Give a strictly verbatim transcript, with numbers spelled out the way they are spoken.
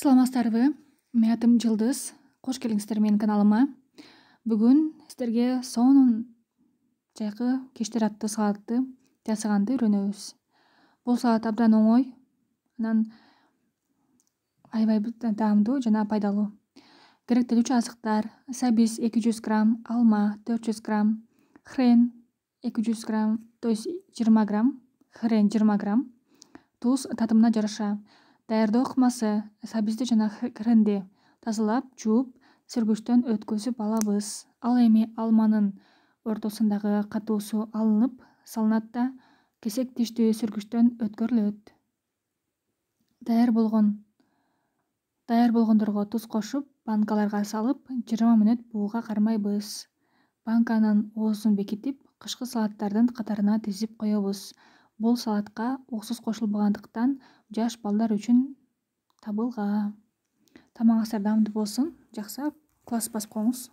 Саламатсыздарбы? Менин атым Жылдыз. Кош келиңиздер менин каналыма. Бүгүн сиздерге сонун жайкы кештер аттуу салатты жасаганды үйрөнөбүз. Бул салат абдан оңой, анан аябай даамдуу жана пайдалуу. Керектелүүчү азыктар: сабиз эки жүз грамм, алма төрт жүз грамм, хрен эки жүз грамм, то есть жыйырма грамм, хрен жыйырма грамм, туз татымына жараша. Даярдоо ыкмасы: сабизди жана хренди тазалап, жууп, сүргүчтөн өткөзүп алабыз. Ал эми алманын ортосундагы катуусу алынып салынат да кесек тиштүү сүргүчтөн өткөрүлөт. Даяр болгон даяр болгондорго туз кошуп, банкаларга салып, жыйырма мүнөт бууга кармайбыз. Банканын оозун бекитип, кышкы салаттардын катарына тизип коебуз. Бул салатка уксус кошулбагандыктан жаш балдар үчүн табылган. Тамагыңыздар даамдуу болсун. Жакшыраак класс басып коюңуз.